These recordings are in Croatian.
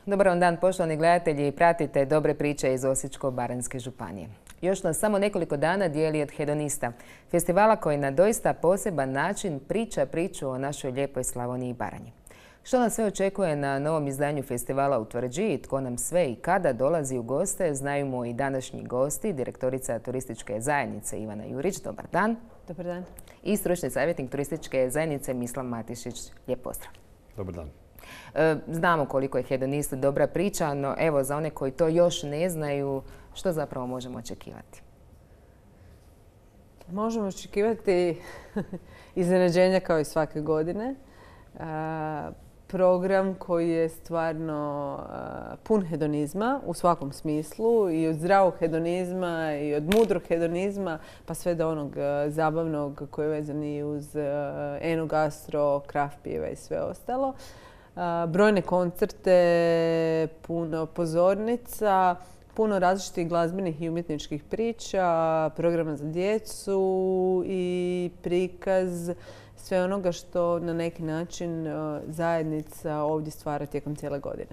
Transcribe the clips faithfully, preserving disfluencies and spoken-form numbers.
Dobar vam dan, poštovani gledatelji. Pratite dobre priče iz Osječko-baranjske županije. Još nas samo nekoliko dana dijeli od Hedonista, festivala koji na doista poseban način priča priču o našoj lijepoj Slavoniji i Baranji. Što nas sve očekuje na novom izdanju festivala u Tvrđi, tko nam sve i kada dolazi u goste, znaju mu i današnji gosti, direktorica turističke zajednice Ivana Jurić. Dobar dan. Dobar dan. I stručni savjetnik turističke zajednice Mislav Matišić. Lijep pozdrav. Dobar dan. Znamo koliko je Hedonist dobra priča, no evo za one koji to još ne znaju, što zapravo možemo očekivati? Možemo očekivati iznenađenja kao i svake godine. Program koji je stvarno pun hedonizma u svakom smislu, i od zdravog hedonizma i od mudrog hedonizma pa sve do onog zabavnog koji je vezan i uz enogastro, kraft piva i sve ostalo. Brojne koncerte, puno pozornica, puno različitih glazbenih i umjetničkih priča, programa za djecu i prikaz sve onoga što na neki način zajednica ovdje stvara tijekom cijele godine.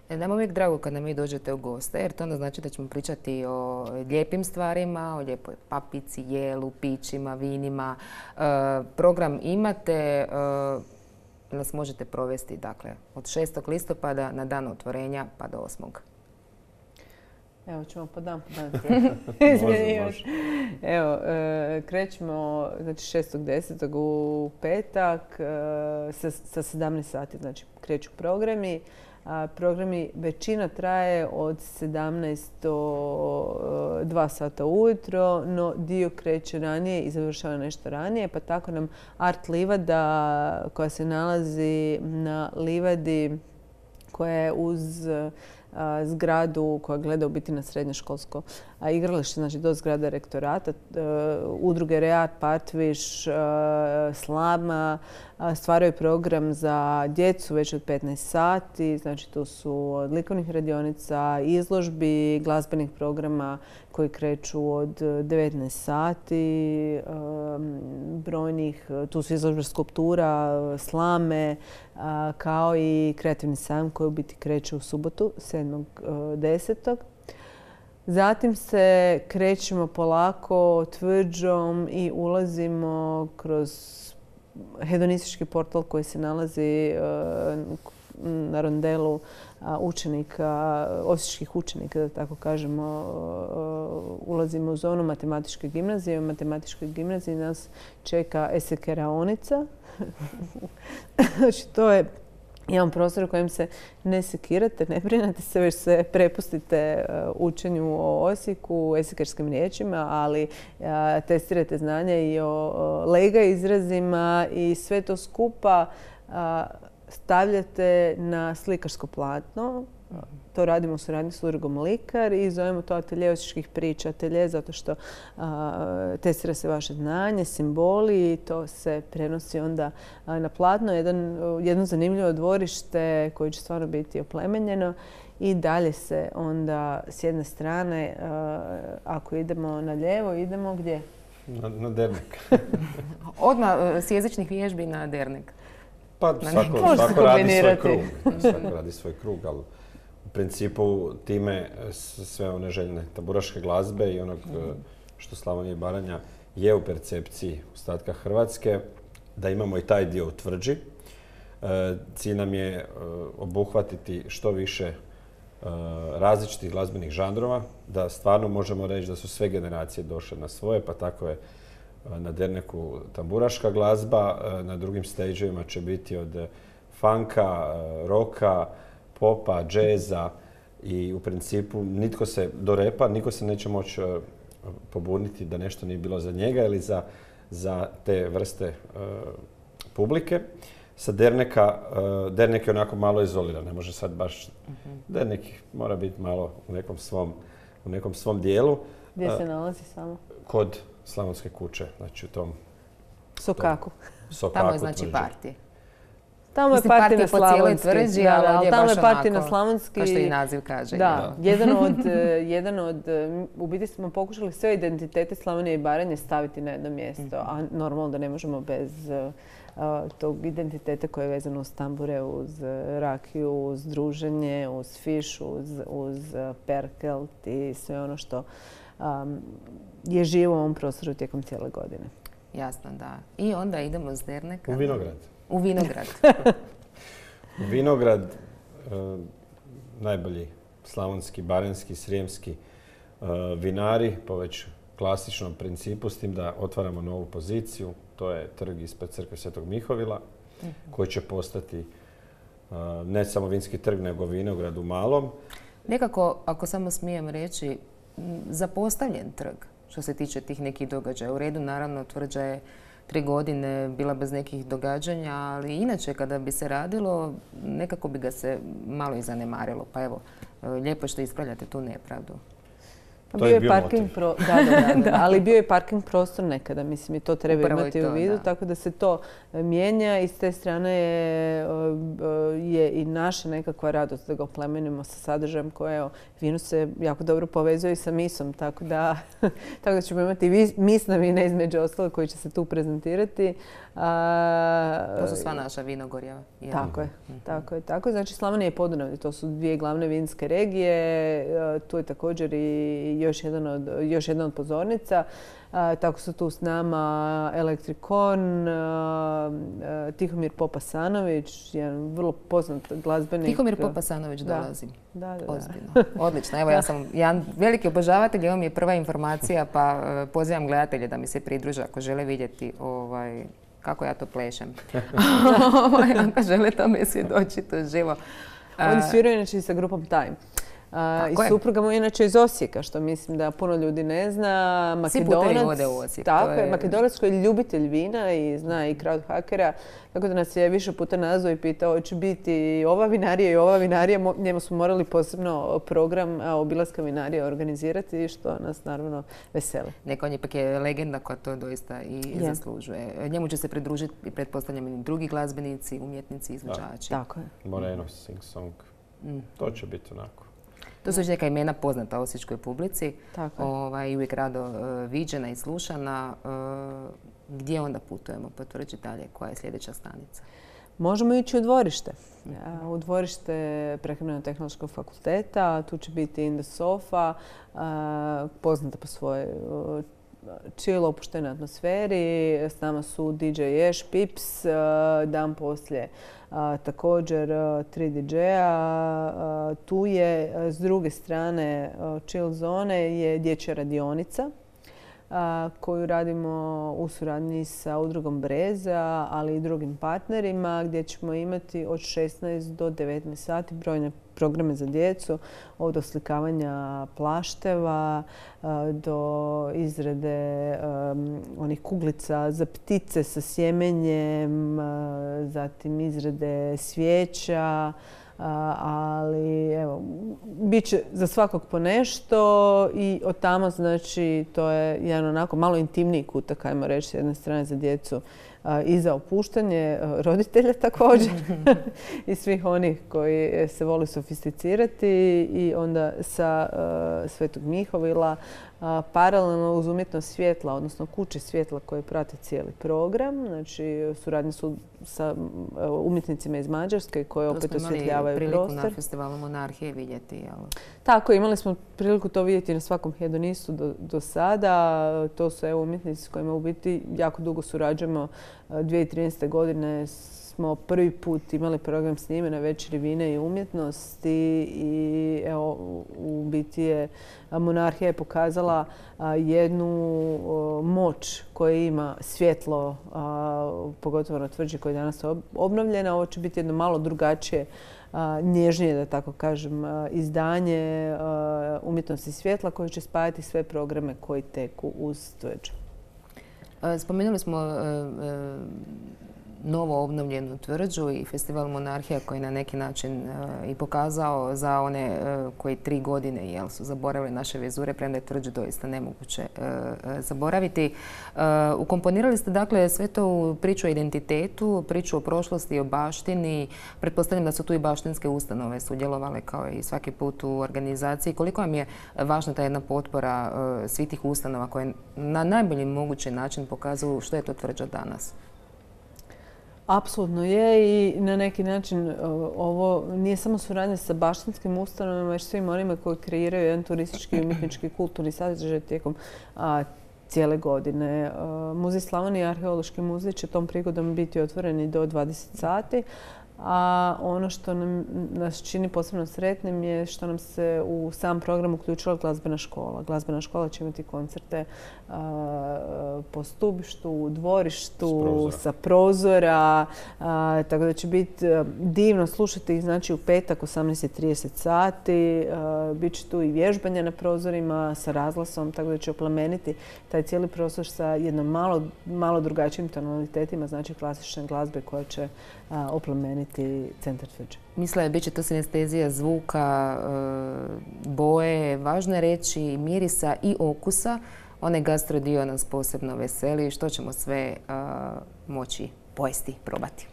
Nam je uvijek drago kad nam vi dođete u goste, jer to onda znači da ćemo pričati o lijepim stvarima, o lijepoj papici, jelu, pićima, vinima. Program imate, nas možete provesti dakle, od šestog listopada na dan otvorenja pa do osmog Evo ćemo po dan po dan. može, može. Evo, e, krećemo znači, šestog desetog u petak e, sa, sa sedamnaest sati, znači kreću programi. A, programi većina traje od sedamnaest do dva sata ujutro, no dio kreće ranije i završava nešto ranije, pa tako nam Art livada koja se nalazi na livadi koja je uz zgradu koja gleda u biti na srednjoškolsko igralište, znači do zgrada rektorata, udruge Reart, Partviš, Slama stvaraju program za djecu već od petnaest sati. Znači tu su od likovnih radionica, izložbi, glazbenih programa koji kreću od devetnaest sati, brojnih, tu su izložbe skulptura, slame, kao i kreativni sajam koji u biti kreće u subotu, sedmog desetog Zatim se krećemo polako Tvrđom i ulazimo kroz hedonistički portal koji se nalazi na rondelu učenika, osječkih učenika, da tako kažemo. Ulazimo u zonu matematičke gimnazije. U matematičkoj gimnaziji nas čeka esekeraonica. Znači, to je jedan prostor u kojem se ne sekirate, ne brinete se, već se prepustite učenju o Osijeku, esikerskim riječima, ali testirate znanje i o lega izrazima i sve to skupa stavljate na slikarsko platno. To radimo u suradnji s udrugom Likar i zovemo to atelje osječkih priča. Atelje zato što a, testira se vaše znanje, simboli i to se prenosi onda a, na platno. Jedan, jedno zanimljivo dvorište koje će stvarno biti oplemenjeno i dalje se onda s jedne strane, a, ako idemo na lijevo, idemo gdje? Na, na dernek. Odmah s jezičnih vježbi na dernek. Pa svako, svako radi svoj krug. Svako radi svoj krug, ali u principu time sve one željne tamburaške glazbe i onog što Slavonija i Baranja je u percepciji ostatka Hrvatske, da imamo i taj dio u Tvrđi. Cilj nam je obuhvatiti što više različitih glazbenih žanrova, da stvarno možemo reći da su sve generacije došle na svoje, pa tako je na derneku tamburaška glazba, na drugim stageovima će biti od funka, roka, popa, džeza i u principu nitko se do repa, niko se neće moći pobuniti da nešto nije bilo za njega ili za, za te vrste uh, publike. Sa derneka, uh, dernek je onako malo izoliran, ne može sad baš, uh-huh. dernek mora biti malo u nekom svom, u nekom svom dijelu. Gdje se nalazi samo? Kod Slavonske kuće, znači u tom Sokaku. Sokaku Tamo je znači parti. Tamo je parti na slavonski. Tvrđi, da, da, ali tamo je parti na slavonski. Kao što i naziv kaže. Da, da. Jedan, od, jedan od, u biti smo pokušali sve identitete Slavonije i Baranje staviti na jedno mjesto, a normalno da ne možemo bez uh, tog identiteta koje je vezano uz tambure, uz rakiju, uz druženje, uz fiš, uz, uz perkelt i sve ono što um, je živo u ovom prostoru tijekom cijele godine. Jasno, da. I onda idemo s derneka. U vinograd. U vinograd. U vinograd, e, najbolji slavonski, baranjski, srijemski e, vinari po već klasičnom principu, s tim da otvaramo novu poziciju. To je trg ispred crkve Svetog Mihovila, uh-huh. koji će postati e, ne samo vinski trg, nego vinograd u malom. Nekako, ako samo smijem reći, zapostavljen trg što se tiče tih nekih događaja. U redu, naravno, Tvrđa je tri godine bila bez nekih događanja, ali inače kada bi se radilo, nekako bi ga se malo i zanemarilo. Pa evo, lijepo što ispravljate tu nepravdu. Bio je parking pro... da, da, da, da. Ali bio je parking prostor nekada, mislim, i to treba Upravo imati to, u vidu, da. Tako da se to mijenja i s te strane je, je i naša nekakva radost da ga oplemenimo sa sadržajem koje vino se jako dobro povezuje i sa misom, tako da, tako da ćemo imati misna vina između ostalo koji će se tu prezentirati. A, to su sva naša vinogorja. Je. Tako je, mm-hmm. tako je, tako je. Znači Slavonija i Podunavlje, to su dvije glavne vinske regije, tu je također i još jedan od, još jedna od pozornica. A, tako su tu s nama Elektrikon, a, a, Tihomir Popasanović, jedan vrlo poznat glazbenik. Tihomir Popasanović da. dolazi. Da, da, da. Ozbiljno. Odlično. Evo, ja sam jedan veliki obožavatelj, evo mi je prva informacija, pa uh, pozivam gledatelje da mi se pridruže ako žele vidjeti ovaj, kako ja to plešem. Ako žele tome svjedočiti živo. Oni sviraju inače i sa grupom Time. Uh, I supruga mu je inače iz Osijeka, što mislim da puno ljudi ne zna. Makedonac, svi putevi u Osijek. Tako je, Makedonac koji je ljubitelj vina i zna i crowdhackera. Tako da nas je više puta nazvao i pitao hoće biti ova vinarija i ova vinarija. Njemu smo morali posebno program obilaska vinarija organizirati, što nas naravno veseli. Neko on ipak je legenda koja to doista i yeah. zaslužuje. Njemu će se pridružiti i pretpostavljam i drugi glazbenici, umjetnici, izvođači. Tako je. Moreno, Sing Song. Mm. To će biti onako. To su neka imena poznata osječkoj publici. Ovaj, i uvijek rado uh, viđena i slušana. Uh, gdje onda putujemo po Tvrđi dalje? Koja je sljedeća stanica? Možemo ići u dvorište. Uh, u dvorište Prehrambeno-tehnološkog fakulteta. Tu će biti In the Sofa, uh, poznata po svojoj uh, chill, opuštenoj atmosferi. S nama su D J Eš, Pips, uh, dan poslije A, također tri didžeja. Tu je s druge strane chill zone je dječja radionica a, koju radimo u suradnji sa udrugom Breza, ali i drugim partnerima gdje ćemo imati od šesnaest do devetnaest sati brojne programe za djecu, od oslikavanja plašteva a, do izrade um, onih kuglica za ptice sa sjemenjem, a, zatim izrade svijeća, a, ali evo, bit će za svakog po nešto i od tamo znači to je jedan onako malo intimniji kutak, ajmo reći, s jedne strane za djecu i za opuštanje roditelja također i svih onih koji se vole sofisticirati i onda sa uh, Svetog Mihovila uh, paralelno uz umjetnost svjetla, odnosno kuće svjetla koje prate cijeli program. Znači, suradnje su sa uh, umjetnicima iz Mađarske koje opet osvjetljavaju prostor. To smo imali priliku na festivalu Monarhije vidjeti. Jel? Tako, imali smo priliku to vidjeti na svakom hedonistu do, do sada. To su evo, umjetnici s kojima u biti jako dugo surađujemo. dvije tisuće trinaeste. godine smo prvi put imali program s njime na Večeri vina i umjetnosti i evo, u biti je Monarhija je pokazala jednu moć koju ima svjetlo, pogotovo na Tvrđi koja je danas obnovljena. Ovo će biti jedno malo drugačije, nježnije, da tako kažem, izdanje umjetnosti svjetla koje će spajati sve programe koji teku uz Tvrđu. Spomenuli smo novo obnovljenu tvrđu i festival Monarhija koji na neki način i pokazao za one koji tri godine jel, su zaboravili naše vizure, premda je tvrđu doista nemoguće zaboraviti. Ukomponirali ste dakle sve to u priču o identitetu, priču o prošlosti, o baštini. Pretpostavljam da su tu i baštinske ustanove sudjelovale kao i svaki put u organizaciji. Koliko vam je važna ta jedna potpora svih tih ustanova koje na najbolji mogući način pokazuju što je to tvrđa danas? Apsolutno je i na neki način ovo nije samo suradnja sa baštinskim ustanovama, već svim onima koji kreiraju jedan turistički i umjetnički kulturni sadržaj tijekom cijele godine. Muzej Slavonije i Arheološki muzej će tom prigodom biti otvoreni do dvadeset sati. A ono što nam, nas čini posebno sretnim je što nam se u sam program uključila glazbena škola. Glazbena škola će imati koncerte a, po stubištu, u dvorištu, sa prozora. A, tako da će biti divno slušati ih znači, u petak osamnaest i trideset sati. Biće tu i vježbanja na prozorima sa razglasom, tako da će oplemeniti taj cijeli prostor sa jednom malo, malo drugačijim tonalitetima, znači klasične glazbe koja će a, oplemeniti centar tvrđe. Misle, bit će to sinestezija zvuka, boje, važno je reći mirisa i okusa. Onaj gastro dio nas posebno veseli. Što ćemo sve moći pojesti, probati?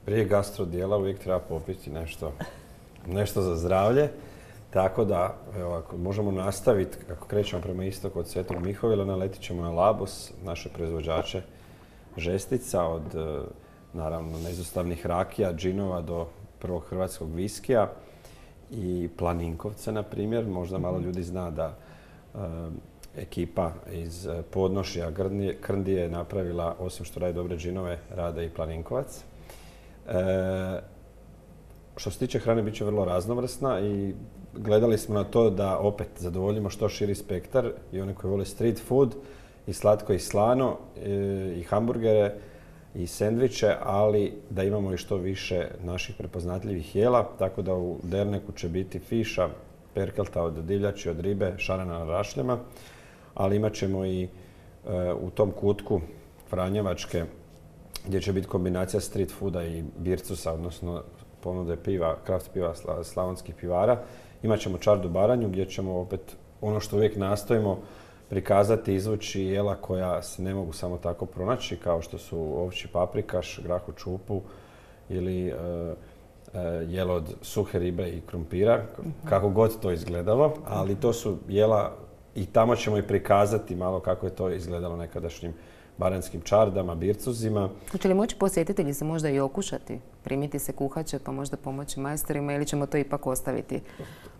Prije gastro dijela uvijek treba popiti nešto, nešto za zdravlje. Tako da, evo, ako možemo nastaviti, ako krećemo prema istoku od Svetog Mihovila, naletit ćemo na Labus, naše proizvođače žestica od naravno neizostavnih rakija, džinova do prvog hrvatskog viskija i Planinkovce, na primjer. Možda malo ljudi zna da e, ekipa iz Podnošja Krndije je napravila, osim što radi dobre džinove, rade i Planinkovac. E, što se tiče hrane, bit će vrlo raznovrsna i gledali smo na to da opet zadovoljimo što širi spektar i one koji vole street food i slatko i slano e, i hamburgere i sendviče, ali da imamo i što više naših prepoznatljivih jela, tako da u derneku će biti fiša, perkelta od divljači, od ribe, šarana na rašljama, ali imat ćemo i e, u tom kutku Franjevačke gdje će biti kombinacija street fooda i bircusa, odnosno ponude piva, kraft piva slavonskih pivara. Imat ćemo čardu baranju gdje ćemo opet ono što uvijek nastojimo prikazati, izvući jela koja se ne mogu samo tako pronaći, kao što su ovči paprikaš, grah u čupu ili e, e, jelo od suhe ribe i krumpira, kako god to izgledalo, ali to su jela i tamo ćemo i prikazati malo kako je to izgledalo nekadašnjim baranjskim čardama, bircuzima. Hoće li moći posjetitelji se možda i okušati, primiti se kuhače pa možda pomoći majstorima ili ćemo to ipak ostaviti?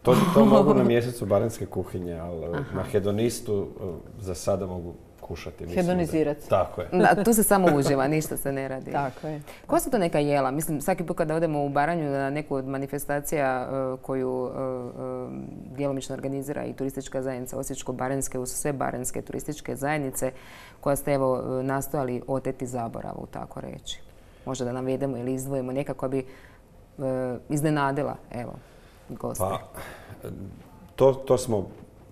To, to mogu na mjesecu baranjske kuhinje, ali Aha. na hedonistu za sada mogu kušati. Hedonizirati. Tako je. Da, tu se samo uživa, ništa se ne radi. Tako je. Koja su to neka jela? Mislim, svaki put kada odemo u Baranju na neku od manifestacija uh, koju uh, uh, djelomično organizira i turistička zajednica Osječko-baranjske uz sve baranjske turističke zajednice koja ste evo nastojali oteti zaboravu, tako reći. Možda da navedemo ili izdvojimo neka koja bi uh, iznenadila, evo, goste. Pa, to, to smo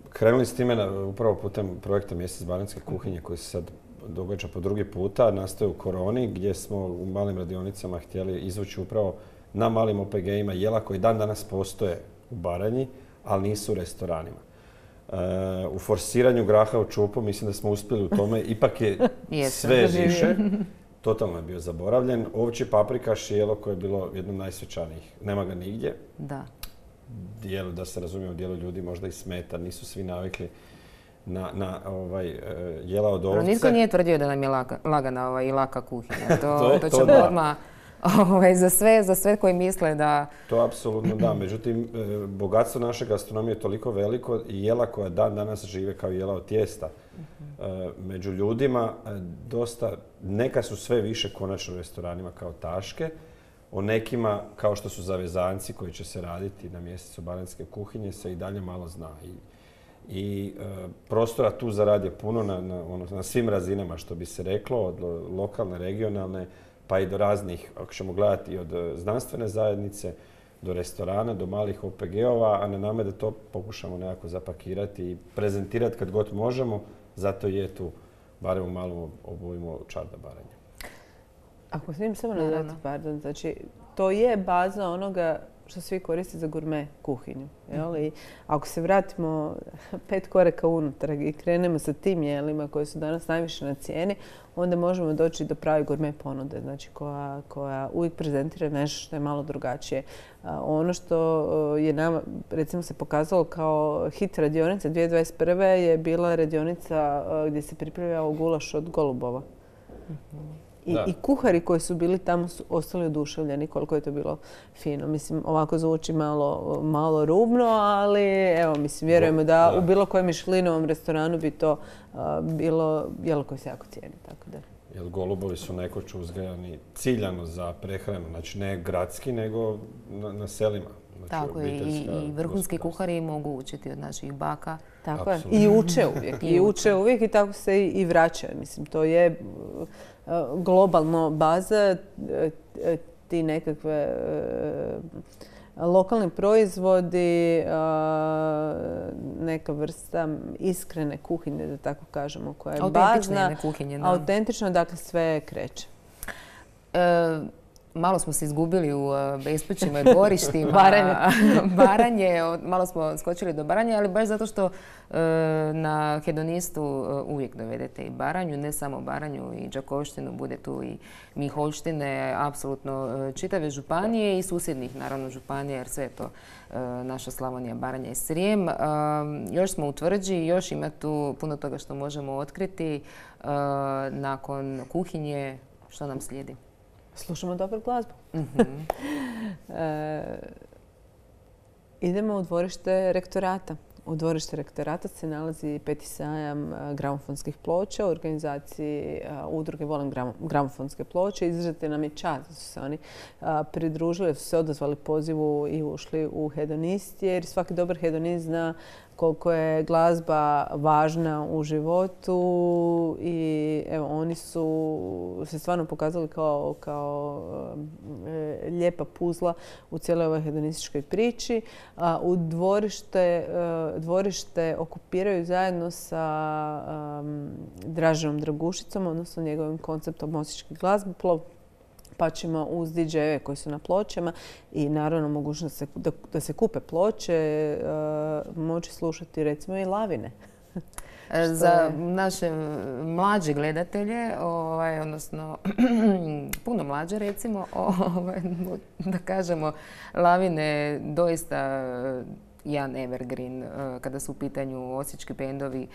krenuli s time na, upravo putem projekta Mjesec baranjske kuhinje koji se sad događa po drugi puta, nastaje u koroni gdje smo u malim radionicama htjeli izvući upravo na malim O P G-ima jela koji dan danas postoje u Baranji, ali nisu u restoranima. E, u forsiranju graha u čupu mislim da smo uspjeli u tome, ipak je sve više. Totalno je bio zaboravljen. Ovči paprikaš je jelo koje je bilo jedno od najsvečanijih. Nema ga nigdje. Da. Dijelu, da se razumije, u dijelu ljudi možda i smeta, nisu svi navikli na, na ovaj, jela od ovce. Nitko nije tvrdio da nam je laka, lagana ovaj, i laka kuhinja. To, to, to ćemo odmah ovaj, za, sve, za sve koji misle da... To apsolutno da. Međutim, bogatstvo naše gastronomije je toliko veliko i jela koja dan danas žive kao jela od tijesta. Uh-huh. Među ljudima dosta, neka su sve više konačno u restoranima kao taške. O nekima, kao što su zavezanci koji će se raditi na mjesecu baranjske kuhinje, se i dalje malo zna. I, i e, prostora tu za rad je puno na, na, ono, na svim razinama, što bi se reklo, od lokalne, regionalne, pa i do raznih, ako ćemo gledati, od znanstvene zajednice, do restorana, do malih O P G-ova, a na nama da to pokušamo nekako zapakirati i prezentirati kad god možemo. Zato je tu, barem u malom obujmu, čarda Baranja. Ako smijem samo nadati, pardon, znači to je baza onoga što svi koriste za gurme kuhinju. Jel? I ako se vratimo pet koraka unutrag i krenemo sa tim jelima koji su danas najviše na cijeni, onda možemo doći do prave gurme ponude, znači koja, koja uvijek prezentira nešto što je malo drugačije. Ono što je nama, recimo, se pokazalo kao hit radionica dvije tisuće dvadeset prve je bila radionica gdje se pripremljao gulaš od golubova. I, I kuhari koji su bili tamo su ostali oduševljeni koliko je to bilo fino. Mislim, ovako zvuči malo, malo rubno, ali evo, mislim, vjerujemo da, da u bilo kojem Michelinovom restoranu bi to uh, bilo jelo koje se jako cijeni. Tako da. Jer golubovi su nekoć uzgajani ciljano za prehranu, znači ne gradski, nego na, na selima. Znači, tako je, i, i vrhunski kuhari mogu učiti od naših baka. Tako je, i uče uvijek, i uče uvijek i tako se i, i vraćaju. Mislim, to je globalno baza, ti nekakve lokalni proizvodi, neka vrsta iskrene kuhinje, da tako kažemo, koja je bazna, kuhinje, autentično, dakle sve kreće. E, malo smo se izgubili u bespućima i dvorištima. Baranje. Baranje, malo smo skočili do Baranje, ali baš zato što na Hedonistu uvijek dovedete i Baranju, ne samo Baranju i Đakovštinu, bude tu i Miholjštine, apsolutno čitave županije i susjednih, naravno, županija, jer sve je to naša Slavonija, Baranja i Srijem. Još smo u Tvrđi, još ima tu puno toga što možemo otkriti. Nakon kuhinje, što nam slijedi? Slušamo dobru glazbu. Mm-hmm. e, idemo u dvorište rektorata. U dvorište rektorata se nalazi peti sajam gramofonskih ploča u organizaciji uh, udruge Volim gramofonske ploče. Izrazito nam je čast da su se oni uh, pridružili, da su se odazvali pozivu i ušli u Hedonist, jer svaki dobar hedonist zna koliko je glazba važna u životu i evo, oni su se stvarno pokazali kao, kao e, lijepa puzla u cijeloj ovoj hedonističkoj priči. A, u dvorište, e, dvorište okupiraju zajedno sa um, Draženom Dragušicom, odnosno njegovim konceptom osječki glazboplov. Pa ćemo uz D J-eve koji su na pločama i naravno mogućnost da, da se kupe ploče, uh, moći slušati recimo i Lavine. Za naše mlađe gledatelje, ovaj, odnosno puno mlađe recimo, ovaj, da kažemo, Lavine doista jedan evergreen kada su u pitanju osječki bendovi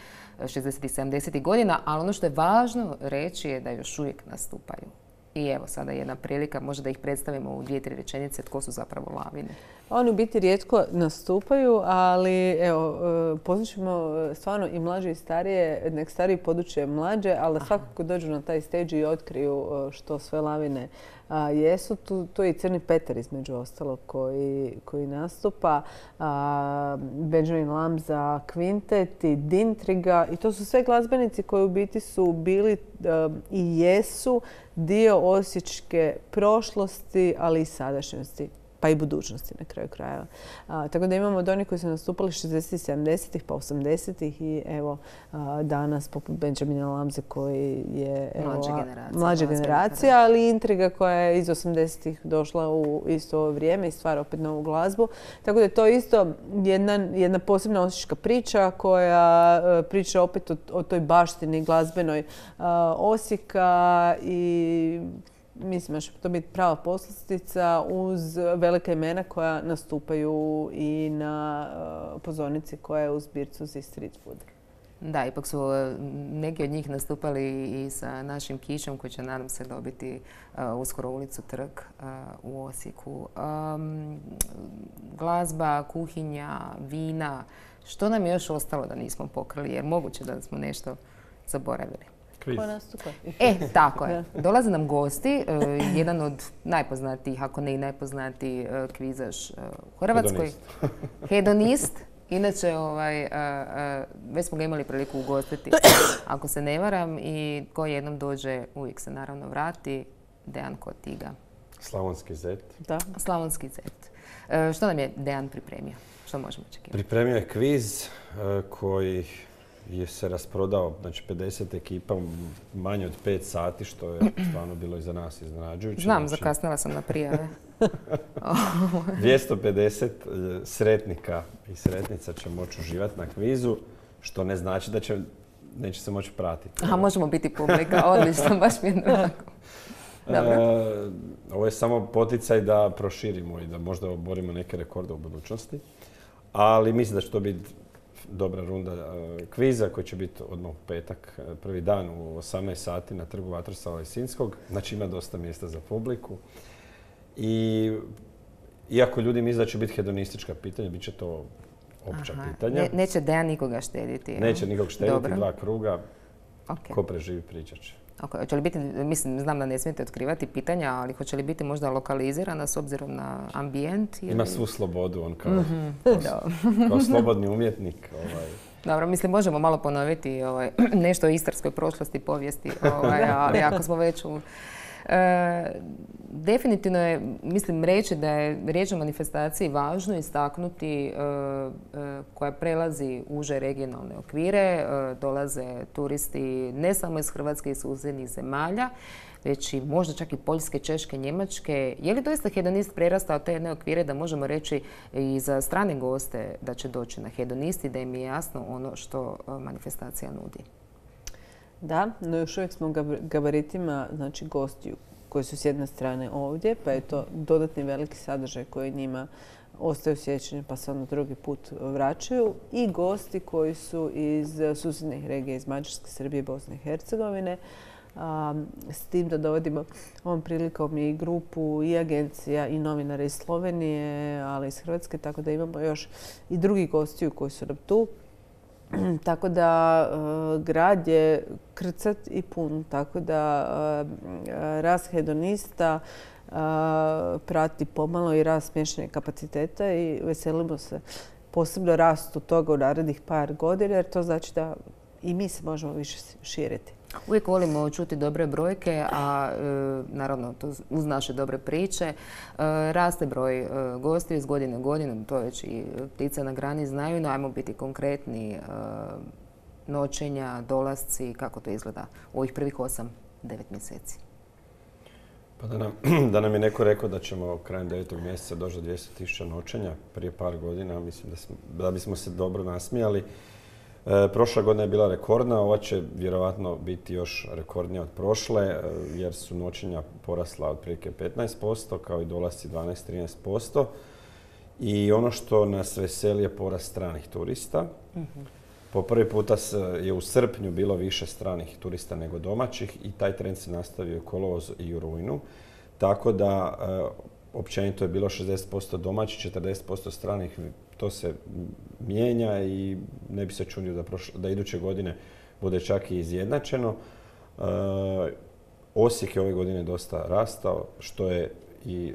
šezdesetih i sedamdesetih godina, ali ono što je važno reći je da još uvijek nastupaju. I evo sada jedna prilika, možda da ih predstavimo u dvije, tri rečenice, tko su zapravo Lavine. Oni u biti rijetko nastupaju, ali evo, pozvaćemo stvarno i mlađe i starije, nek stariji poduče mlađe, ali da svakako dođu na taj stage i otkriju što sve Lavine a, jesu. Tu, tu je i Crni Petar između ostalog koji, koji nastupa, a, Benjamin Lamza, Kvintet i Dintriga i to su sve glazbenici koji u biti su bili a, i jesu dio osječke prošlosti, ali i sadašnjosti, pa i budućnosti na kraju krajeva. A, tako da imamo od onih koji su nastupali šezdesetih, sedamdesetih pa osamdesetih i evo a, danas poput Benjamina Lamze koji je evo, mlađa generacija, mlađa generacija, ali Intriga koja je iz osamdesetih došla u isto ovo vrijeme i stvara opet novu glazbu. Tako da je to isto jedna, jedna posebna osječka priča koja a, priča opet o, o toj baštini glazbenoj a, Osijeka i mislim da će to biti prava poslastica uz velika imena koja nastupaju i na uh, pozornici koja je u zbircu za street food. Da, ipak su neki od njih nastupali i sa našim Kišom koji će, nadam se, dobiti uh, uskoro ulicu Trg uh, u Osijeku. Um, glazba, kuhinja, vina, što nam je još ostalo da nismo pokrili, jer moguće da smo nešto zaboravili. Kviz. Ko nastupa? E, tako je. Dolaze nam gosti, uh, jedan od najpoznatijih, ako ne i najpoznatiji uh, kvizaš uh, u Hrvatskoj. Hedonist. Hedonist. Inače, ovaj, uh, uh, već smo ga imali priliku ugostiti, ako se ne varam, i ko jednom dođe, uvijek se naravno vrati, Dejan Kotiga. Slavonski zet. Da. Slavonski zet. Uh, što nam je Dejan pripremio? Što možemo očekivati? Pripremio je kviz uh, koji je se rasprodao, znači pedeset ekipa manje od pet sati, što je stvarno bilo i za nas iznenađujuće. Znam, znači, zakasnila sam na prijave. dvjesto pedeset sretnika i sretnica će moći uživati na kvizu, što ne znači da će, neće se moći pratiti. Aha, možemo biti publika, odlično, baš mi je onako. E, ovo je samo poticaj da proširimo i da možda oborimo neke rekorde u budućnosti. Ali mislim da će to biti dobra runda e, kviza koji će biti odmah u petak, prvi dan u osamnaest sati na trgu Vatroslava Lisinskog. Znači ima dosta mjesta za publiku. I iako ljudi misle da će biti hedonistička pitanja, bit će to opća Aha. pitanja. Ne, neće Dejan nikoga štediti. Neće nikog štediti, Dobro. Dva kruga. Okay. Ko preživi pričat će. Okay. Hoće li biti, mislim, znam da ne smijete otkrivati pitanja, ali hoće li biti možda lokalizirana s obzirom na ambijent? Ili... Ima svu slobodu, on kao, mm-hmm. kao, kao slobodni umjetnik. Ovaj. Dobro, mislim, možemo malo ponoviti ovaj, nešto o istarskoj prošlosti, povijesti, ovaj, ali ako smo već u... E, definitivno je, mislim, reći da je riječ o manifestaciji važno istaknuti e, e, koja prelazi uže regionalne okvire. E, dolaze turisti ne samo iz Hrvatske i susjednih zemalja, već i možda čak i Poljske, Češke, Njemačke. Je li doista hedonist prerastao te jedne okvire da možemo reći i za strane goste da će doći na hedonist i da im je jasno ono što manifestacija nudi? Da, no još uvijek smo gabaritima, znači gostiju koji su s jedne strane ovdje, pa je to dodatni veliki sadržaj koji njima ostaju sjećanje pa se onda drugi put vraćaju, i gosti koji su iz susjednih regija, iz Mađarske, Srbije, Bosne i Hercegovine. Um, s tim da dovodimo ovom prilikom i grupu i agencija i novinara iz Slovenije, ali iz Hrvatske, tako da imamo još i drugi gostiju koji su nam tu. Tako da uh, grad je krcat i pun, tako da uh, rast hedonista uh, prati pomalo i rast smještajnih kapaciteta i veselimo se posebno rastu toga u narednih par godina, jer to znači da i mi se možemo više širiti. Uvijek volimo čuti dobre brojke, a e, naravno to uz naše dobre priče. E, raste broj e, gostiju iz godine u godinu, to već i ptice na grani znaju, no ajmo biti konkretni. E, noćenja, dolasci, kako to izgleda u ovih prvih osam, devet mjeseci? Pa da nam, da nam je neko rekao da ćemo krajem devetog mjeseca doći do dvjesto tisuća noćenja prije par godina, mislim da, smo, da bismo se dobro nasmijali. E, prošla godina je bila rekordna, ova će vjerovatno biti još rekordnija od prošle, e, jer su noćenja porasla otprilike petnaest posto, kao i dolasci dvanaest do trinaest posto. I ono što nas veseli je porast stranih turista. Mm-hmm. Po prvi puta je u srpnju bilo više stranih turista nego domaćih i taj trend se nastavio u kolovozu i u rujnu. Tako da e, općenito je bilo šezdeset posto domaćih, četrdeset posto stranih. To se mijenja i ne bi se čunio da, prošle, da iduće godine bude čak i izjednačeno. E, Osijek je ove godine dosta rastao, što je i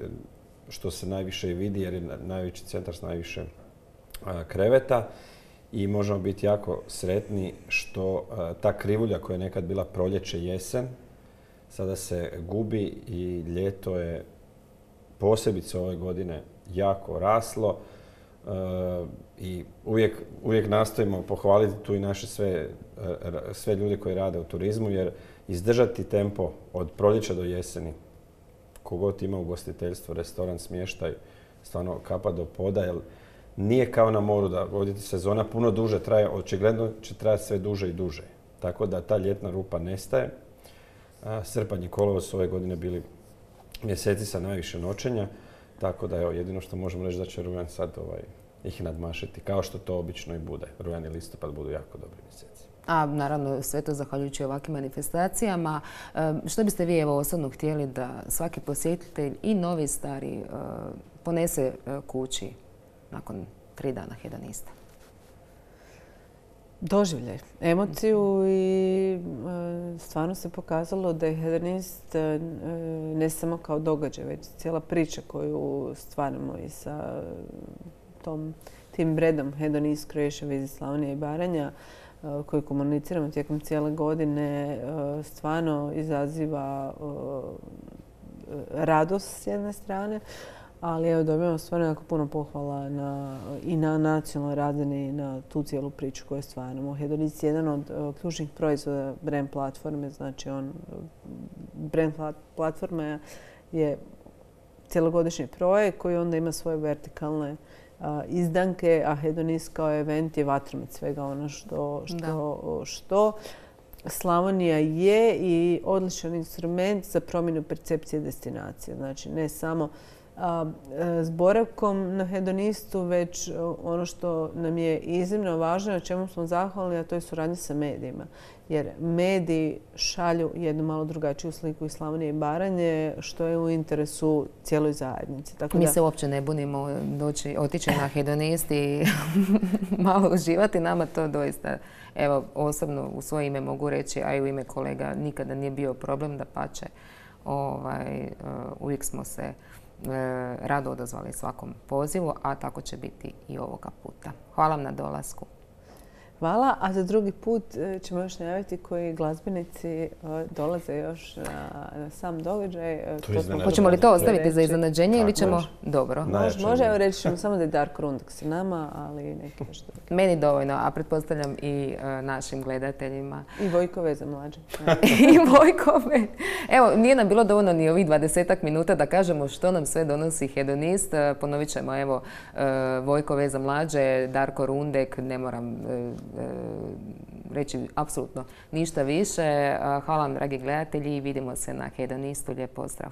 što se najviše i vidi jer je najveći centar s najviše a, kreveta. I možemo biti jako sretni što a, ta krivulja koja je nekad bila proljeće, jesen, sada se gubi i ljeto je posebice ove godine jako raslo. E, I uvijek, uvijek nastojimo pohvaliti tu i naše sve, sve ljude koji rade u turizmu, jer izdržati tempo od proljeća do jeseni, kogod ima ugostiteljstvo, restoran, smještaj, stvarno kapa do poda, jer nije kao na moru da ovdje sezona puno duže traje, očigledno će trajati sve duže i duže. Tako da ta ljetna rupa nestaje. A, srpanj i kolovoz su ove godine bili mjeseci sa najviše noćenja, tako da evo, jedino što možemo reći da će rujan sad ovaj, ih nadmašiti, kao što to obično i bude. Rujan i listopad budu jako dobri mjeseci. A naravno sve to zahvaljujući ovakvim manifestacijama. Što biste vi evo osobno htjeli da svaki posjetitelj i novi i stari ponese kući nakon tri dana hedonista? Doživljaj, emociju i e, stvarno se pokazalo da je hedonist e, ne samo kao događaj, već cijela priča koju stvaramo i sa tom, tim bredom Hedonist Croatia Visit Slavonija i Baranja, e, koji komuniciramo tijekom cijele godine, e, stvarno izaziva e, radost s jedne strane, ali evo dobivamo stvarno jako puno pohvala na, i na nacionalnoj razini i na tu cijelu priču koju stvaramo. Hedonist je jedan od uh, ključnih proizvoda brand platforme, znači on, brand platforma je cjelogodišnji projekt koji onda ima svoje vertikalne uh, izdanke, a Hedonist kao event je vatromet svega ono što, što, što Slavonija je i odličan instrument za promjenu percepcije destinacije. Znači ne samo s boravkom na Hedonistu, već ono što nam je iznimno važno, na čemu smo zahvalni, a to je suradnja sa medijima. Jer mediji šalju jednu malo drugačiju sliku iz Slavonije i Baranje, što je u interesu cijeloj zajednici. Tako Mi da... se uopće ne bunimo doći, otići na Hedonist i malo uživati. Nama to doista, evo, osobno u svoje ime mogu reći, a i u ime kolega, nikada nije bio problem, da pače. Ovaj, uh, uvijek smo se rado odazvali svakom pozivu, a tako će biti i ovoga puta. Hvala vam na dolasku. Hvala, a za drugi put ćemo još najaviti koji glazbenici dolaze još na, na sam događaj. Hoćemo li to ostaviti za iznenađenje ili ćemo... Može. Dobro. Može, može, evo reći ćemo samo da je Darko Rundek s nama, ali neki još drugi. Meni dovoljno, a pretpostavljam i uh, našim gledateljima. I Vojko Veza mlađe. I Vojko Veza. Evo, nije nam bilo dovoljno ni ovih dvadesetak minuta da kažemo što nam sve donosi Hedonist. Ponovit ćemo, evo, uh, Vojko Veza mlađe, Darko Rundek, ne moram... Uh, reći apsolutno ništa više. Hvala vam, dragi gledatelji, i vidimo se na Hedonistu. Lijep pozdrav.